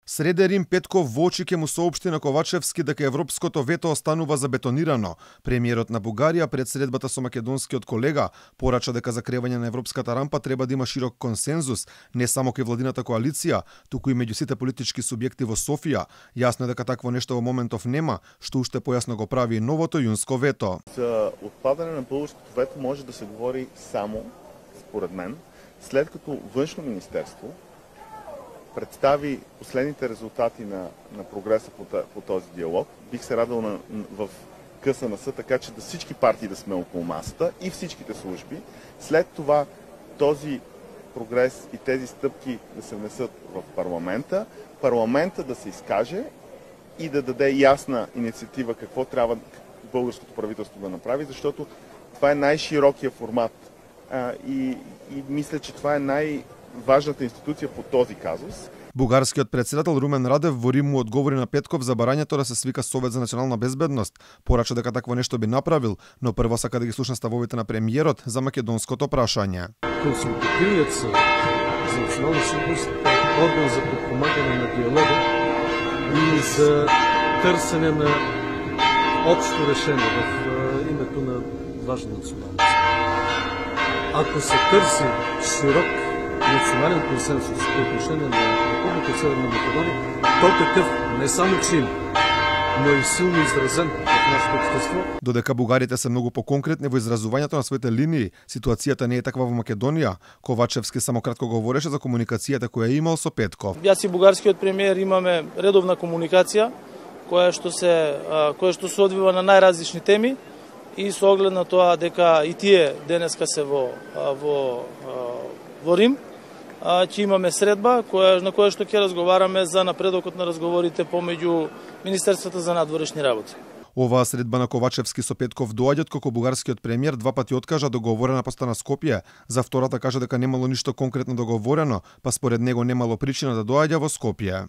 Среде Рим Петков во очи ќе му соопшти на Ковачевски дека европското вето останува забетонирано. Премиерот на Бугарија пред средбата со македонскиот колега порача дека за кревање на европската рампа треба да има широк консензус, не само кај владината коалиција, туку и меѓу сите политички субјекти во Софија. Јасно е дека такво нешто во моментов нема, што уште појасно го прави и новото јунско вето. За отпадане на българското вето може да се говори само, според мен, след като Външно министерство представи последните резултати на прогреса по този диалог. Бих се радвал в КСНС, така че да всички партии да сме около масата и всичките служби. След това този прогрес и тези стъпки да се внесат в парламента, парламента да се изкаже и да даде ясна инициатива какво трябва българското правителство да направи, защото това е най-широкия формат и мисля, че това е най-важната институция по този казус. Бугарскиот председател Румен Радев во Рим му одговори на Петков за барањето да се свика Совет за национална безбедност. Порача дека такво нешто би направил, но прво сака да ги слуша ставовите на премиерот за македонското прашање. Консултативниот съвет за национална сигурност е орган за подпомагане на диалога и за търсене на общо решение в името на важна националност. Ако се търси широк национален консенсус по отношение на Република Северна Македония, то такъв не само че има, но и силно изразен в нашето общество. Додека бугарите се многу поконкретни во изразувањето на своите линии, ситуацијата не е таква во Македонија. Ковачевски само кратко говореше за комуникацијата која имал со Петков. Јас и бугарскиот премиер имаме редовна комуникација која што се одвива на најразлични теми и со оглед на тоа дека и тие денеска се во Рим, ќе имаме средба на која што ќе разговараме за напредокот на разговорите помеѓу Министерството за надворешни работи. Оваа средба на Ковачевски со Петков доаѓа откако бугарскиот премиер два пати откажа договорена поста на Скопје. За втората кажа дека немало ништо конкретно договорено, па според него немало причина да доаѓа во Скопје.